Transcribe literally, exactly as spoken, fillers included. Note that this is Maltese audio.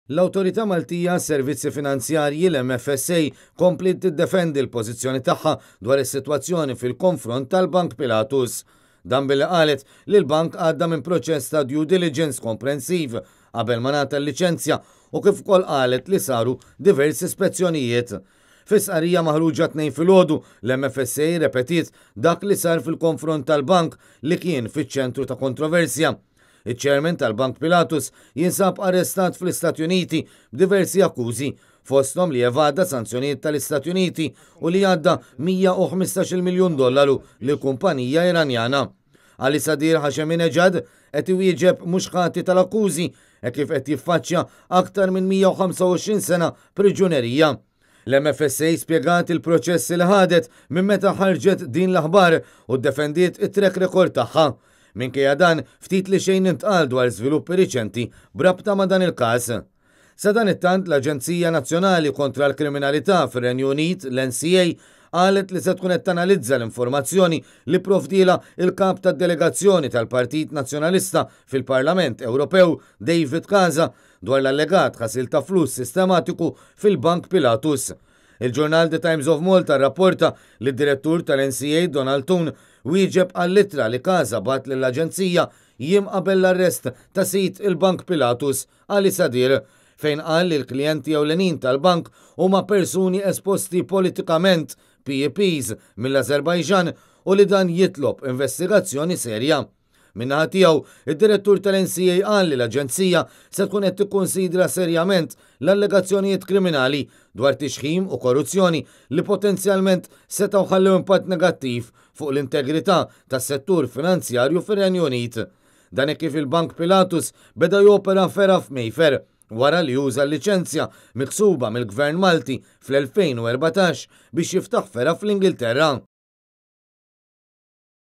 L-Awtorità Maltija Servizzi Finanzjarji, l-M F S A, kompliet tiddefendi l-pożizzjoni tagħha dwar is-sitwazzjoni fil-konfront tal-Bank Pilatus. Dan billi qalet li l-bank għadda minn proċess ta' due diligence komprensiv qabel ma ngħata l-liċenzja u kif ukoll qalet li saru diversi spezzjonijiet. Fi stqarrija maħruġa t-Tnejn filgħodu, l-M F S A repetiet dak li sar fil-konfront tal-bank li kien fiċ-ċentru ta' kontroversja. Iċ-chairman tal-Bank Pilatus jinsab arrestat fl-Istati Uniti b'diversi akkużi, fosthom li evada sanzjonijiet tal-Istati Uniti u li għadda mija u ħmistax-il miljun dollaru lil kumpanija Iranjana. Ali Sadir Hasheminejad qed iwieġeb mhux ħati tal-akkużi e kif qed jiffaċċja aktar minn mija u ħamsa u għoxrin sena priġunerija. L-M F S A spjegat il-proċessi li ħadet minn meta ħarġet din l-aħbar u ddefendiet it-track record tagħha. Minkejja dan, ftit li xejn intqal dwar żviluppi riċenti brabta ma' dan il-każ. Sadanittant, l-Aġenzija Nazzjonali kontra l-Kriminalità fir-Renju Unit, l-N C A, qalet li se tkun qed tanalizza l-informazzjoni li provdielha il-kap tad-delegazzjoni tal-Partit Nazzjonalista fil-Parlament Ewropew, David Casa, dwar l-allegat ħasil ta' flus sistematiku fil-Bank Pilatus. Il-ġurnal The Times of Malta rapporta li d-direttur tal-N C A, Donald Thune, wieġeb għall-ittra li Casa bagħat lill-aġenzija jiem qabel l-arrest ta' sid il-Bank Pilatus, Ali Sadir, fejn qal li l-klijenti ewlenin tal-bank huma persuni esposti politikament, P E Ps, mill-Azerbajġan u li dan jitlob investigazzjoni serja. Min-naħa tiegħu, id-direttur tal-N C A qal li l-Aġenzija se tkun qed tikkunsidra serjament l-allegazzjonijiet kriminali dwar tixħim u korruzzjoni li potenzjalment setgħu ħallew impatt negattiv fuq l-integrità tas-settur finanzjarju fir-Renju Unit. Dan kif il-Bank Pilatus beda jopera fergħa f'Mayfair wara li uża l-liċenzja miksuba mill-Gvern Malti fl-elfejn u erbatax biex jiftaħ fergħa fl-Ingilterra.